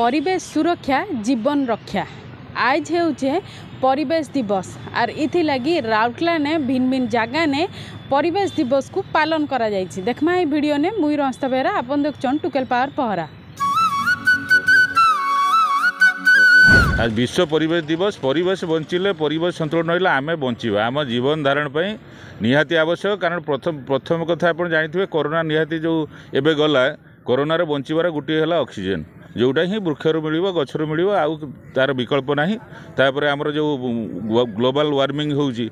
ପରିବେଶ ସୁରକ୍ଷା ଜୀବନ ରକ୍ଷା। ଆଜ୍ ହେଉଛେ ପରିବେଶ ଦିବସ ଆର୍ ଇଥିଲାଗି ରାଉରକେଲାନେ ଭିନ୍ନ ଭିନ୍ନ ଜାଗାନେ ପରିବେଶ ଦିବସକୁ ପାଳନ କରାଯାଇଛି। ଦେଖମା ଏଇ ଭିଡ଼ିଓନେ। ମୁଇଁ ରସ୍ତା ବେହେରା, ଆପଣ ଦେଖୁଛନ୍ ଟୁକେଲ ପାୱାର ପହରା। ଆজ ବିଶ୍ୱ ପରିବେଶ ଦିବସ। ପରିବେଶ ବଞ୍ଚିଲେ, ପରିବେଶ ସନ୍ତୁଳନ ରହିଲେ ଆମେ ବଞ୍ଚିବା। ଆମ ଜୀବନ ଧାରଣ ପାଇଁ ନିହାତି ଆବଶ୍ୟକ। କାରଣ ପ୍ରଥମ କଥା ଆପଣ ଜାଣିଥିବେ, କରୋନା ନିହାତି ଯେଉଁ ଏବେ ଗଲା, କରୋନାରେ ବଞ୍ଚିବାର ଗୋଟିଏ ହେଲା ଅକ୍ସିଜେନ୍, ଯେଉଁଟା ହିଁ ବୃକ୍ଷରୁ ମିଳିବ, ଗଛରୁ ମିଳିବ, ଆଉ ତା'ର ବିକଳ୍ପ ନାହିଁ। ତାପରେ ଆମର ଯେଉଁ ଗ୍ଲୋବାଲ୍ ୱାର୍ମିଂ ହେଉଛି,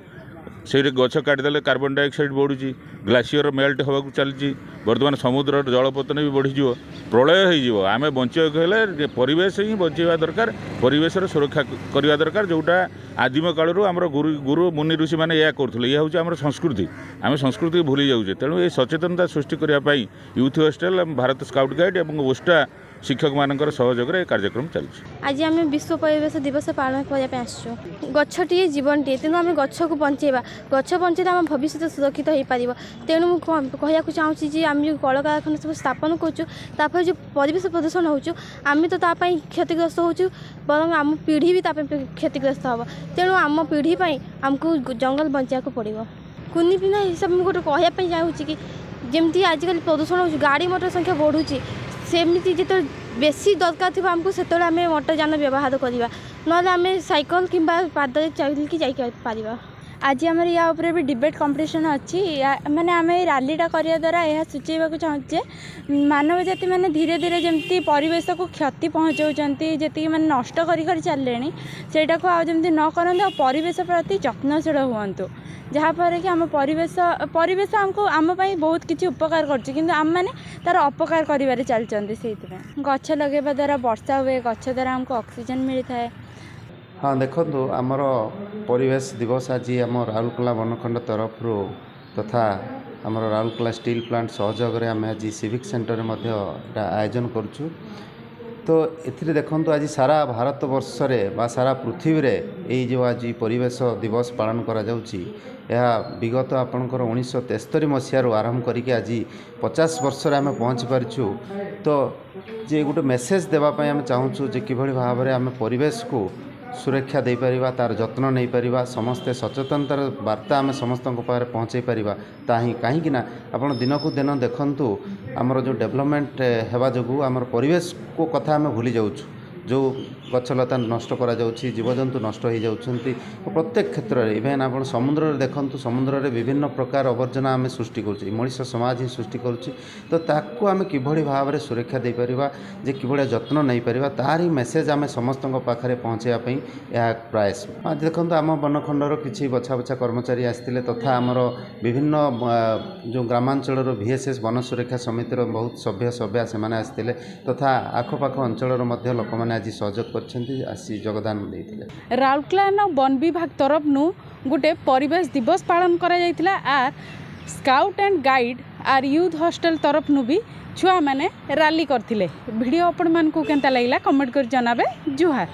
ସେଇଠି ଗଛ କାଟିଦେଲେ କାର୍ବନ ଡାଇଅକ୍ସାଇଡ଼ ବଢ଼ୁଛି, ଗ୍ଲାସିୟର ମେଲ୍ଟ ହେବାକୁ ଚାଲିଛି, ବର୍ତ୍ତମାନ ସମୁଦ୍ରର ଜଳପତନ ବି ବଢ଼ିଯିବ, ପ୍ରଳୟ ହେଇଯିବ। ଆମେ ବଞ୍ଚିବାକୁ ହେଲେ ପରିବେଶ ହିଁ ବଞ୍ଚିବା ଦରକାର, ପରିବେଶର ସୁରକ୍ଷା କରିବା ଦରକାର, ଯେଉଁଟା ଆଦିମ କାଳରୁ ଆମର ଗୁରୁ ମୁନି ଋଷିମାନେ ଏହା କରୁଥିଲେ। ଇଏ ହେଉଛି ଆମର ସଂସ୍କୃତି। ଆମେ ସଂସ୍କୃତିକୁ ଭୁଲି ଯାଉଛେ। ତେଣୁ ଏ ସଚେତନତା ସୃଷ୍ଟି କରିବା ପାଇଁ youth hostel, Bharat scout guide ଏବଂ ଓଷ୍ଟା ଶିକ୍ଷକମାନଙ୍କର ସହଯୋଗରେ ଏ କାର୍ଯ୍ୟକ୍ରମ ଚାଲିଛି। ଆଜି ଆମେ ବିଶ୍ୱ ପରିବେଶ ଦିବସ ପାଳନ କରିବା ପାଇଁ ଆସିଛୁ। ଗଛଟିଏ ଜୀବନଟିଏ, ତେଣୁ ଆମେ ଗଛକୁ ବଞ୍ଚେଇବା। ଗଛ ବଞ୍ଚେଇଲେ ଆମ ଭବିଷ୍ୟତ ସୁରକ୍ଷିତ ହୋଇପାରିବ। ତେଣୁ ମୁଁ କହିବାକୁ ଚାହୁଁଛି ଯେ ଆମେ ଯେଉଁ କଳକାରଖାନା ସବୁ ସ୍ଥାପନ କରୁଛୁ, ତାପରେ ଯେଉଁ ପରିବେଶ ପ୍ରଦୂଷଣ ହେଉଛୁ, ଆମେ ତ ତା ପାଇଁ କ୍ଷତିଗ୍ରସ୍ତ ହେଉଛୁ, ବରଂ ଆମ ପିଢ଼ି ବି ତା ପାଇଁ କ୍ଷତିଗ୍ରସ୍ତ ହେବ। ତେଣୁ ଆମ ପିଢ଼ି ପାଇଁ ଆମକୁ ଜଙ୍ଗଲ ବଞ୍ଚାଇବାକୁ ପଡ଼ିବ। କୁନି ପିଲା ହିସାବରେ ମୁଁ ଗୋଟେ କହିବା ପାଇଁ ଚାହୁଁଛି କି ଯେମିତି ଆଜିକାଲି ପ୍ରଦୂଷଣ ହେଉଛି, ଗାଡ଼ି ମଟର ସଂଖ୍ୟା ବଢ଼ୁଛି, ସେମିତି ଯେତେବେଳେ ବେଶୀ ଦରକାର ଥିବ ଆମକୁ, ସେତେବେଳେ ଆମେ ମଟର ଯାନ ବ୍ୟବହାର କରିବା, ନହେଲେ ଆମେ ସାଇକେଲ କିମ୍ବା ପାଦରେ ଚାଲିକି ଯାଇପାରିବା। ଆଜି ଆମର ୟା ଉପରେ ବି ଡିବେଟ୍ କମ୍ପିଟିସନ୍ ଅଛି। ମାନେ ଆମେ ଏଇ ରାଲିଟା କରିବା ଦ୍ୱାରା ଏହା ସୂଚେଇବାକୁ ଚାହୁଁଛୁ ଯେ ମାନବ ଜାତି ମାନେ ଧୀରେ ଧୀରେ ଯେମିତି ପରିବେଶକୁ କ୍ଷତି ପହଞ୍ଚାଉଛନ୍ତି, ଯେତିକି ମାନେ ନଷ୍ଟ କରି କରି ଚାଲିଲେଣି, ସେଇଟାକୁ ଆଉ ଯେମିତି ନ କରନ୍ତୁ ଆଉ ପରିବେଶ ପ୍ରତି ଯତ୍ନଶୀଳ ହୁଅନ୍ତୁ, ଯାହାଫଳରେ କି ଆମ ପରିବେଶ ଆମକୁ ଆମ ପାଇଁ ବହୁତ କିଛି ଉପକାର କରୁଛି, କିନ୍ତୁ ଆମେମାନେ ତା'ର ଅପକାର କରିବାରେ ଚାଲିଛନ୍ତି। ସେଇଥିପାଇଁ ଗଛ ଲଗାଇବା ଦ୍ୱାରା ବର୍ଷା ହୁଏ, ଗଛ ଦ୍ୱାରା ଆମକୁ ଅକ୍ସିଜେନ୍ ମିଳିଥାଏ। ହଁ, ଦେଖନ୍ତୁ, ଆମର ପରିବେଶ ଦିବସ ଆଜି ଆମ ରାଉରକେଲା ବନଖଣ୍ଡ ତରଫରୁ ତଥା ଆମର ରାଉରକେଲା ଷ୍ଟିଲ୍ ପ୍ଲାଣ୍ଟ ସହଯୋଗରେ ଆମେ ଆଜି ସିଭିକ୍ ସେଣ୍ଟରରେ ମଧ୍ୟ ଏଇଟା ଆୟୋଜନ କରୁଛୁ। ତ ଏଥିରେ ଦେଖନ୍ତୁ, ଆଜି ସାରା ଭାରତ ବର୍ଷରେ ବା ସାରା ପୃଥିବୀରେ ଏଇ ଯେଉଁ ଆଜି ପରିବେଶ ଦିବସ ପାଳନ କରାଯାଉଛି, ଏହା ବିଗତ ଆପଣଙ୍କର 1973 ମସିହାରୁ ଆରମ୍ଭ କରିକି ଆଜି 50 ବର୍ଷରେ ଆମେ ପହଞ୍ଚି ପାରିଛୁ। ତ ଯେ ଗୋଟେ ମେସେଜ୍ ଦେବା ପାଇଁ ଆମେ ଚାହୁଁଛୁ ଯେ କିଭଳି ଭାବରେ ଆମେ ପରିବେଶକୁ ସୁରକ୍ଷା ଦେଇପାରିବା, ତା'ର ଯତ୍ନ ନେଇପାରିବା, ସମସ୍ତେ ସଚେତନତାର ବାର୍ତ୍ତା ଆମେ ସମସ୍ତଙ୍କ ପାଖରେ ପହଞ୍ଚାଇ ପାରିବା ତାହା ହିଁ। କାହିଁକି ନା ଆପଣ ଦିନକୁ ଦିନ ଦେଖନ୍ତୁ, ଆମର ଯେଉଁ ଡେଭଲପମେଣ୍ଟ ହେବା ଯୋଗୁଁ ଆମର ପରିବେଶକୁ କଥା ଆମେ ଭୁଲି ଯାଉଛୁ। ଯେଉଁ ଗଛଲତା ନଷ୍ଟ କରାଯାଉଛି, ଜୀବଜନ୍ତୁ ନଷ୍ଟ ହୋଇଯାଉଛନ୍ତି ପ୍ରତ୍ୟେକ କ୍ଷେତ୍ରରେ। ଇଭେନ୍ ଆପଣ ସମୁଦ୍ରରେ ଦେଖନ୍ତୁ, ସମୁଦ୍ରରେ ବିଭିନ୍ନ ପ୍ରକାର ଆବର୍ଜନା ଆମେ ସୃଷ୍ଟି କରୁଛୁ, ମଣିଷ ସମାଜ ହିଁ ସୃଷ୍ଟି କରୁଛି। ତ ତାକୁ ଆମେ କିଭଳି ଭାବରେ ସୁରକ୍ଷା ଦେଇପାରିବା, ଯେ କିଭଳିଆ ଯତ୍ନ ନେଇପାରିବା, ତାରି ମେସେଜ୍ ଆମେ ସମସ୍ତଙ୍କ ପାଖରେ ପହଞ୍ଚାଇବା ପାଇଁ ଏହା ପ୍ରୟାସ। ଦେଖନ୍ତୁ, ଆମ ବନଖଣ୍ଡର କିଛି ବଛା ବଛା କର୍ମଚାରୀ ଆସିଥିଲେ ତଥା ଆମର ବିଭିନ୍ନ ଯେଉଁ ଗ୍ରାମାଞ୍ଚଳର ଭିଏସ୍ଏସ୍ ବନ ସୁରକ୍ଷା ସମିତିର ବହୁତ ସଭ୍ୟ ସଭ୍ୟା ସେମାନେ ଆସିଥିଲେ ତଥା ଆଖପାଖ ଅଞ୍ଚଳର ମଧ୍ୟ ଲୋକମାନେ ଆଜି ସହଯୋଗ କରିଛନ୍ତି, ଆସି ଯୋଗଦାନ ଦେଇଥିଲେ। ରାଉରକେଲାନ ବନ ବିଭାଗ ତରଫନୁ ଗୋଟେ ପରିବେଶ ଦିବସ ପାଳନ କରାଯାଇଥିଲା R scout and guide R youth hostel ତରଫନୁ ବି ଛୁଆମାନେ ରାଲି କରିଥିଲେ। ଭିଡ଼ିଓ ଆପଣମାନଙ୍କୁ କେନ୍ତା ଲାଗିଲା, କମେଣ୍ଟ କରି ଜଣାବେ। ଜୁହାର।